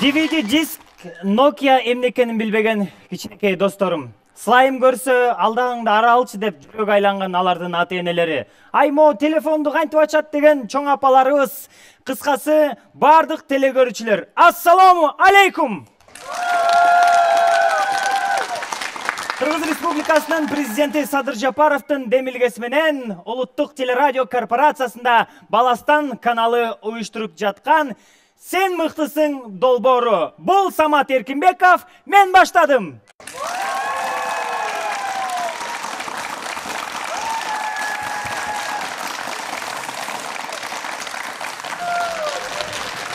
DVD диск Nokia эмнекенин билбеген кичинекей досторум. Слайм көрсө алдаңды ара алчы деп жүрөк айланган алардын ата-энелери. Аймо телефонду кантип ачат деген чоң апаларыбыз. Кыскасы, бардык телекөрүүчүлөр, ассаламу алейкум. Кыргыз Республикасынын президенти Садыр Жапаровдун демилгеси менен Улуттук телерадио корпорациясында Баластан каналы уюштуруп жаткан Сен мыктысың долбоору. Бул Самат Эркинбеков, мен баштадым.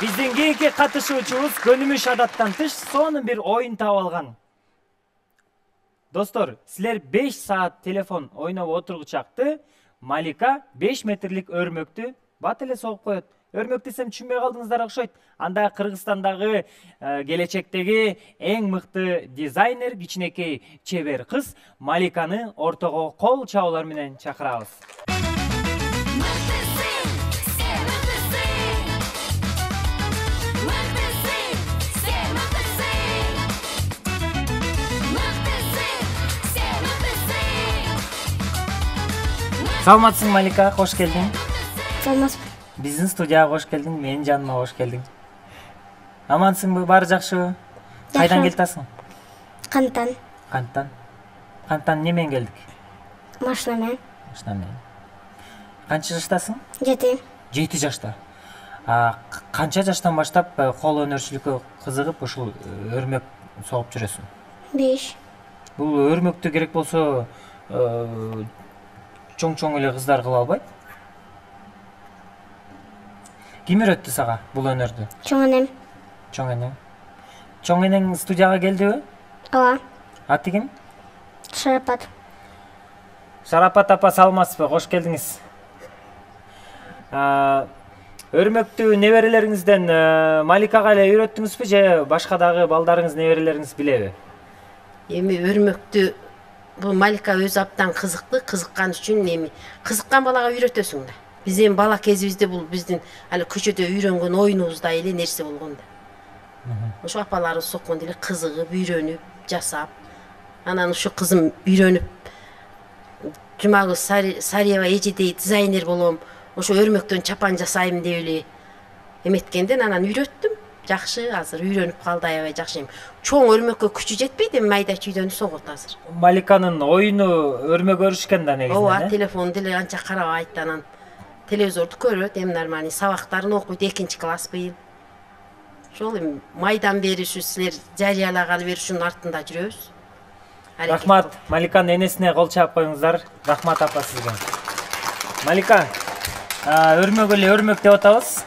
Биздин кийинки катышуучубуз көнүмүш адаттан тыш сонун бир оюн таап алган. Достор, силер 5 саат телефон ойноп отургучакты Малика 5 метрлик өрмөктү бат эле согуп коет. Өрмөк десем түшүнбөй калдыңыздар окшойт. Анда Кыргызстандагы келечектеги эң мыкты дизайнер, кичинекей чебер кыз Маликаны ортого кол чабуулар менен чакырабыз. Саламатсың, Малика, кош келдиң. Саламатсың. Биздин студияга кош келдиң, менин жаныма кош келдиң. Амансыңбы, баары жакшыбы? Кайдан келатасың? Канттан. Канттан эмне менен келдик? Машина менен. Канча жаштасың? 7. 7 жашта. Канча жаштан баштап кол өнөрчүлүккө кызыгып ушул өрмөк согуп жүрөсүң? 5. Бул өрмөктү керек болсо чоң эле кыздар кыла албайт? Ким үйрөттү сага бул өнөрдү? Чоң энем. Чоң энең студияга келдиби? Ооба. Аты ким? Шарапат. Шарапат апа, саламатсызбы? Кош келдиңиз. Өрмөктү неберелериңизден Маликага эле үйрөттүңүзбү же башка дагы балдарыңыз, неберелериңиз билеби? Эми өрмөктү бул Малика өзү абдан кызыккан үчүн эми кызыккан балага үйрөтөсүң да. Биз эми бала кезибизде бул биздин али көчөдө үйрөнгөн оюнубуздай эле нерсе болгон да. Ошо апаларыбыз соккондо эле кызыгып, үйрөнүп, жасап. Анан ушу кызым үйрөнүп, Жумагүл Сариева эжедей дизайнер болом, ошо өрмөктөн чапан жасайм деп эле эметкенден анан үйрөттүм. Жакшы, азыр үйрөнүп калды, аябай жакшы. Чоң өрмөккө күчү жетпейт, эми майда чүйдөнү согот азыр. Маликанын оюну өрмөк өрүшкен да негизинен. Ооба, телефон деле анча карабайт, анан телевизорду көрөт, эми нормальный сабактарын окуйт, 2 класс быйыл. Ошол эми майдан бери ушу силер жарыялаганы бери ушунун артында жүрөбүз. Рахмат, Маликанын энесине кол чаап коюңуздар. Рахмат апа сизге. Малика, өрмөк эле өрмөк деп атабыз.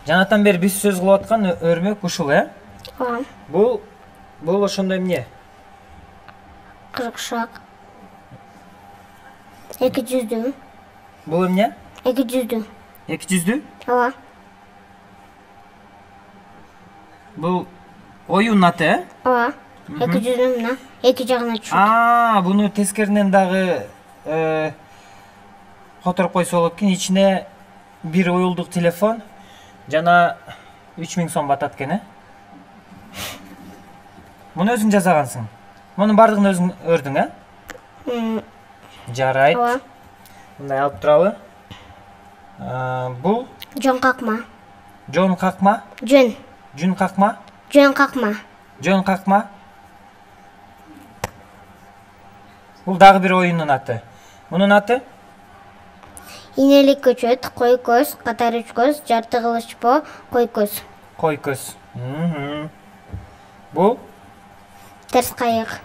Жанатан бери биз сөз кылып аткан өрмөк ушул, Ооба. Бул ошондой эмне? Кыркшак. 200дүү. Бул эмне? 200дүү. 200дүү? Ооба. Бул оюн аты, Ооба. 200дүү мына 2 жагына түшөт. Буну тескеринен дагы которуп койсо болот экен. Ичине бир уюлдук телефон жана 3000 сом батат экен, Муну өзүң жасагансың. Мунун бардыгын өзүң өрдүң, Жарайт. Ооба. Мындай алып туралы. Бул Жон какма. Жон какма? Жун какма? Жон какма. Бул дагы бир оюндун аты. Мунун аты? Инелик көчөт, кой көз, катар 3 көз, жарты кылычпо, кой көз. Кой көз. Бул? Терс кайык.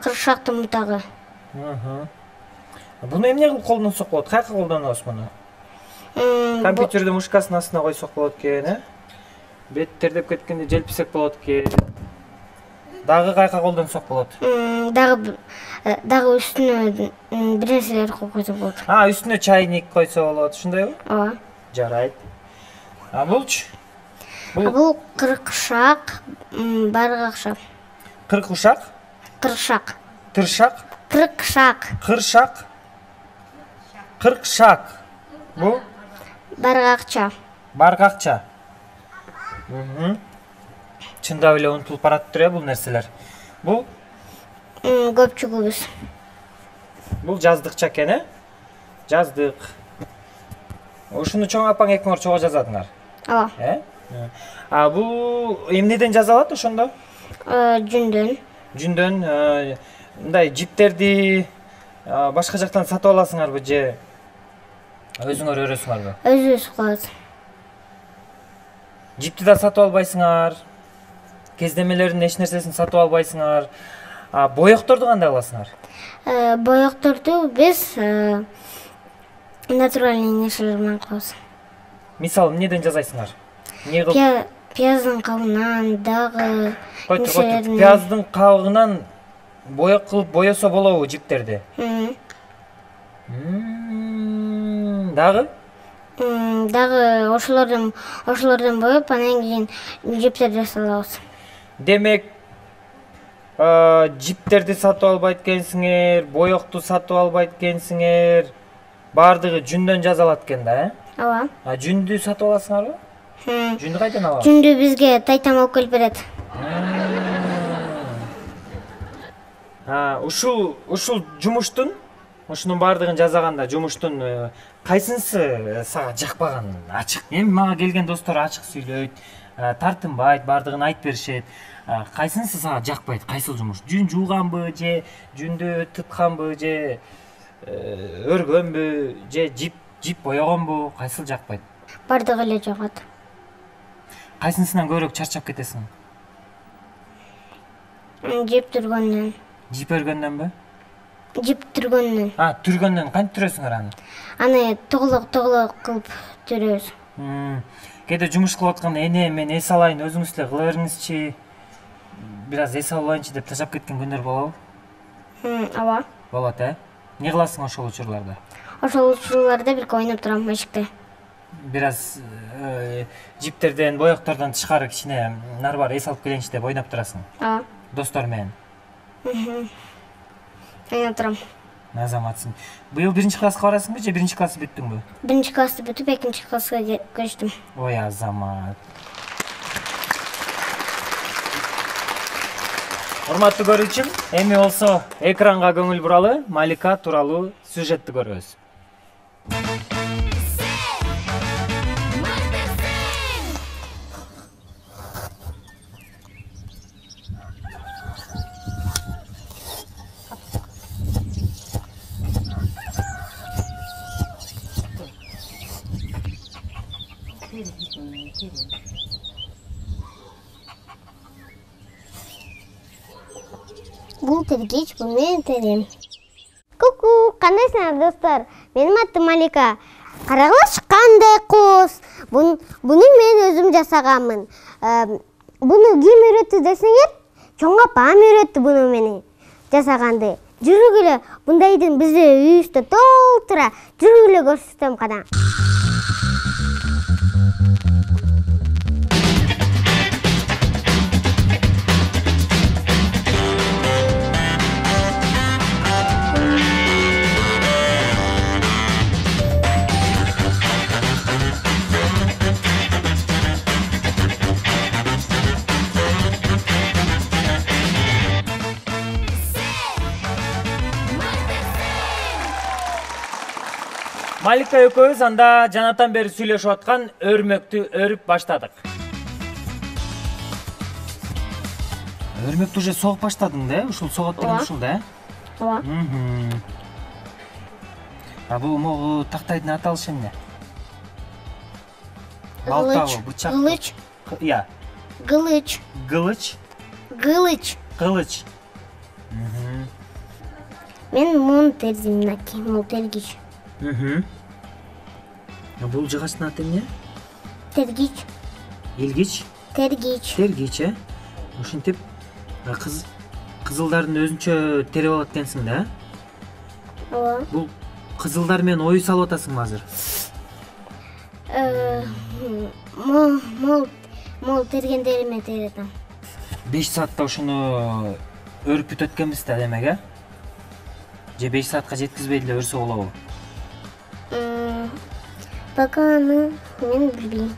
Кыркшактын мутагы. Буну эмне кылып колдонсок болот? Кайка колдонобуз муну? Компьютердин мушкасынын астына койсок болот экен, Бет тердеп кеткенде желписек болот экен. Дагы кайка колдонсок болот? Дагы үстүнө бир нерселер коюп койсок болот. Үстүнө чайник койсо болот, ушундайбы? Ооба. Жарайт. Булчу? Бул кыркшак, баргакша. Кыркушак? Кыркшак. Тыршак? Кыркшак. Кыршак? Кыркшак. Бул? Баргакча. Баргакча. Чындап эле унутулуп баратыптыр бул нерселер. Бул көпчүгүбүз. Бул жаздыкча экен, Жаздык. Ушуну чоң апаң экөөңөр чого жазадыңар. Ооба. Бул эмнеден жазалат ошондо? Жүндөн. Жүндөн мындай жиптерди башка жактан сатып аласыңарбы же өзүңөр өрөсүңөрбү? Өзүбүз кылабыз. Жипти да сатып албайсыңар. Кездемелердин эч нерсесин сатып албайсыңар. Боекторду кандай аласыңар? Боекторду биз натуральный нерселер менен кылабыз. Мисалы, эмнеден жасайсыңар? Эмне кылып? Пияздын кабыгынан, дагы нерселерден. Пияздын кабыгынан боек кылып боесо болобу жиптерди? Дагы? Дагы ошолордон боеп, анан кийин жиптер жасалабыз. Демек, жиптерди сатып албайт экенсиңер, боекту сатып албайт экенсиңер. Бардыгы жүндөн жасалат экен да, Ооба. Жүндү сатып аласыңарбы? Жүндү кайдан аласың? Жүндү бизге тайтам алып келип берет. Ушул жумуштун, ушунун бардыгын жасаганда жумуштун кайсынысы сага жакпаган ачык? Эми мага келген достор ачык сүйлөйт, тартынбайт, бардыгын айтып беришет. Кайсынысы сага жакпайт? Кайсыл жумуш? Жүн жууганбы же жүндү тытканбы же өргөнбү же жип боёгонбу? Кайсыл жакпайт? Бардыгы эле жагат. Кайсынысынан көбүрөөк чарчап кетесиң? Жип түргөндөн. Жип өргөндөнбү? Жип түргөндөн. Түргөндөн кантип түрөсүңөр аны? Аны тоголок кылып түрөбүз. Кээде жумуш кылып атканда эне мен эс алайын, өзүңүз эле кыла бериңизчи. Бир аз эс алайынчы деп ташап кеткен күндөр болобу? Ооба. Болот, Эмне кыласың ошол учурларда? Ошол учурларда бирке ойноп турам эшикте. Бир аз жиптерден, боектордон тышкары кичине нары бар эс алып келейинчи деп ойноп турасың. Ооба. Достор менен. Ойноп турам. Азаматсың. Быйыл 1 класска барасыңбы же 1 классы бүттүңбү? 1 классты бүтүп 2 класска көчтүм. Ой, Азамат. Урматтуу көрүүчүм, эми болсо экранга көңүл буралы, Малика тууралуу сюжетти көрөбүз. Бул тергич, бул менин терим. Ку-ку, кандайсыңар достор? Менин атым Малика. Карагылачы кандай куз. Буну мен өзүм жасаганмын. Буну ким үйрөттү десеңер, чоң апам үйрөттү буну мени жасаганды. Жүргүлө, бундайдын бизде үйүбүздө толтура. Жүргүлө көрсөтөм кана. Малика экөөбүз анда жанатан бери сүйлөшүп аткан өрмөктү өрүп баштадык. Өрмөктү уже согуп баштадың да? Ушул согот деген ушул да? Ооба. Бул могу тактайдын аталышы эмне? Балтабы, бычак. Кылыч. Ия. Кылыч. Кылыч. Кылыч. Кылыч. Мен муну тердим, мынакей, бул тергич. Бул жыгачтын аты эмне? Тергич. Илгич? Тергич. Тергич, Ушинтип кызылдардын өзүнчө терип алат экенсиң да? Ооба. Бул кызылдар менен ою салып атасыңбы азыр? Мол тергендериме теретем. 5 саатта ушуну өрүп бүтөт экенбиз да, демек, Же 5 саатка жеткизбей эле өрсө болобу? Пока аны мен билбейм.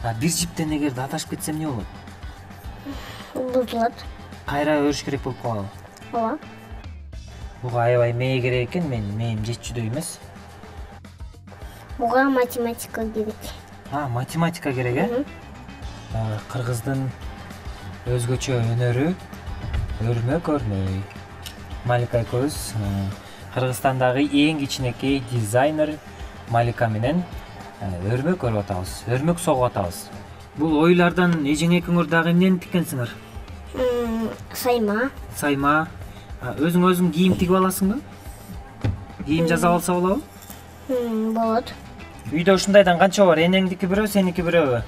Бир жиптен эгерде адашып кетсем эмне болот? Бузулат. Кайра өрүш керек болуп калабы? Ооба. Буга аябай мээ керек экен, мээм жетчүдөй эмес. Буга математика керек. Математика керек, э? Кыргыздын өзгөчө өнөрү өрмөк өрмөй. Малика экөөбүз Кыргызстандагы эң кичинекей дизайнер Малика менен өрмөк өрүп атабыз, өрмөк согуп атабыз. Бул ойлордон эжең экөөңөр дагы эмнени тиккенсиңер? Сайма. Өзүң кийим тигип аласыңбы? Кийим жасап алса болобу? Болот. Үйдө ушундайдан канча бар? Энеңдики бирөө, сеники бирөөбү?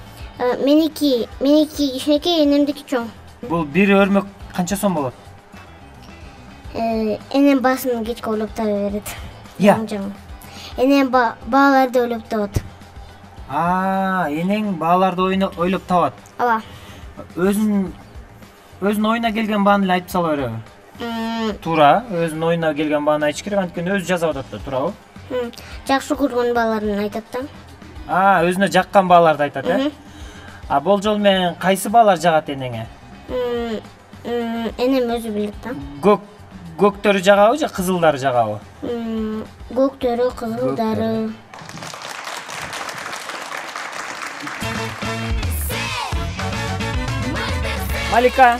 Меники кичинекей, энемдики чоң. Бул бир өрмөк канча сом болот? Энем баасын кечке ойлоп таба берет. Иә. Энем бааларды ойлоп табат. Энең бааларды ойлоп табат. Ооба. Өзүнүн оюна келген бааны эле айтып сала береби? Туура, өзүнүн оюна келген бааны айтыш керек, анткени өзү жасап атат да, туурабы? Жакшы көргөн бааларын айтат да. Өзүнө жаккан бааларды айтат, э? Болжол менен кайсы баалар жагат энеңе? Энем өзү билет да. Көктөрү жагабы же кызылдары жагабы? Көктөрү, кызылдары. Малика,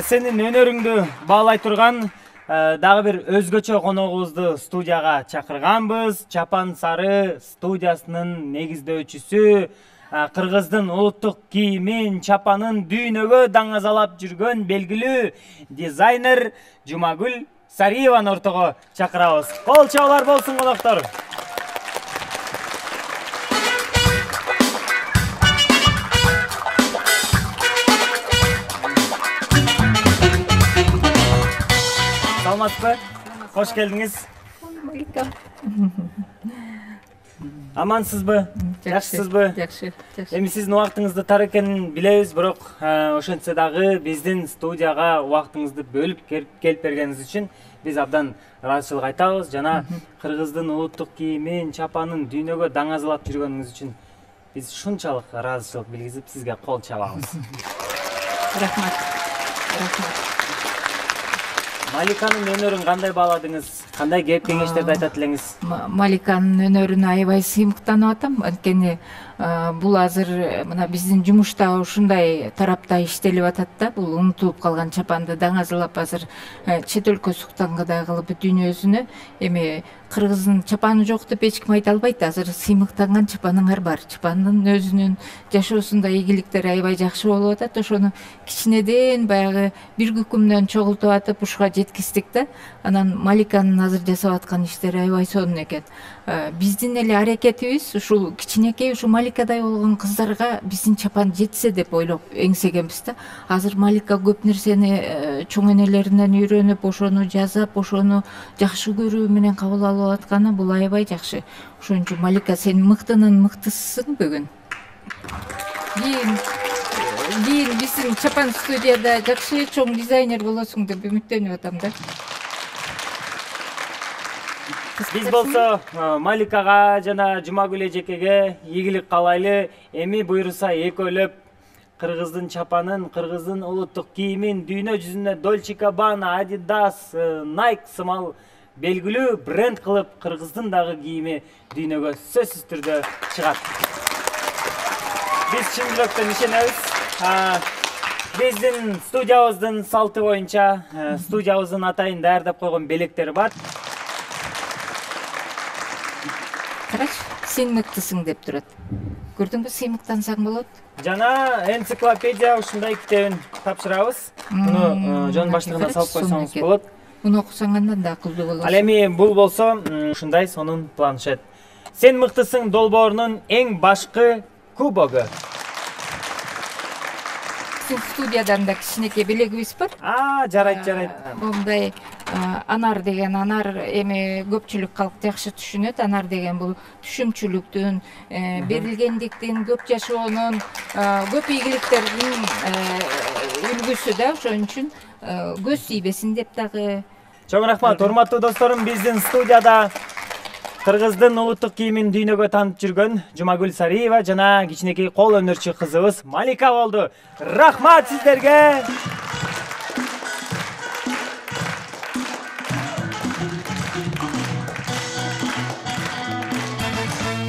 сенин өнөрүңдү баалай турган дагы бир өзгөчө коногубузду студияга чакырганбыз. Чапан Сары студиясынын негиздөөчүсү, Кыргыздын улуттук кийимин, чапанын дүйнөгө даңазалап жүргөн белгилүү дизайнер Жумагүл Сариеваны ортого чакырабыз. Кол чабуулар болсун, коноктор. Саламатсызбы? Кош келдиңиз. Малика. Амансызбы? Жакшысызбы? Жакшы. Эми сиздин убактыңызды тар экенин билебиз, бирок ошентсе дагы биздин студияга убактыңызды бөлүп келип бергениңиз үчүн биз абдан ыраазычылык айтабыз. Жана Кыргыздын улуттук кийимин, чапанын дүйнөгө даңазалап жүргөнүңүз үчүн биз ушунчалык ыраазычылык билгизип сизге кол чабабыз. Рахмат. Маликанын өнөрүн кандай бааладыңыз? Кандай кеп кеңештерди айтат элеңиз? Маликанын өнөрүнө аябай сыймыктанып атам. Анткени бул азыр мына биздин жумушта ушундай тарапта иштелип атат да. Бул унутулуп калган чапанды даңазалап азыр чет өлкө суктангыдай кылып дүйнөсүнө. Эми Кыргыздын чапаны жок деп эч ким айта албайт. Азыр сыймыктанган чапаныңар бар. Чапандын өзүнүн жашоосунда ийгиликтери аябай жакшы болуп атат. Ошону кичинеден баягы бир күкүмдөн чогултуп атып ушуга жеткиздик да. Анан Маликанын азыр жасап аткан иштери аябай сонун экен. Биздин эле аракетибиз ушул кичинекей ушу Маликадай болгон кыздарга биздин чапан жетсе деп ойлоп эңсегенбиз да. Азыр Малика көп нерсени чоң энелеринен үйрөнүп, ошону жазап, ошону жакшы көрүү менен кабыл алып атканы бул аябай жакшы. Ошон үчүн Малика, сен мыктынын мыктысысың бүгүн. Кийин биздин чапан студияда жакшы чоң дизайнер болосуң деп үмүттөнүп атам да. Биз болсо Маликага жана Жумагүл эжекеге ийгилик каалайлы. Эми буйруса экөөлөп Кыргыздын чапанын, Кыргыздын улуттук кийимин дүйнө жүзүнө Dolce & Gabbana, Adidas, Nike сымал белгилүү бренд кылып Кыргыздын дагы кийими дүйнөгө сөзсүз түрдө чыгат. Биз чын жүрөктөн ишенебиз. Биздин студиябыздын салты боюнча студиябыздын атайын даярдап койгон белектери бар. Карач, сен мыктысың деп турат. Көрдүңбү, сыймыктансаң болот. Жана энциклопедия ушундай китебин тапшырабыз. Муну жон баштыгына салып койсоңуз болот. Муну окусаң андан да акылдуу болосуң. Ал эми бул болсо ушундай сонун планшет. Сен мыктысың долбоорунун эң башкы кубогу. Сен студиядан да кичинекей белегибиз бар. Жарайт. Мындай анар деген эми көпчүлүк калк жакшы түшүнөт. Анар деген бул түшүмчүлүктүн, берилгендиктин, көп жашоонун, көп ийгиликтердин үлгүсү да. Ошон үчүн көз тийбесин деп дагы. Чоң рахмат, урматтуу досторум, биздин студияда Кыргыздын улуттук кийимин дүйнөгө таанытып жүргөн Жумагүл Сариева жана кичинекей кол өнөрчү кызыбыз Малика болду. Рахмат сиздерге.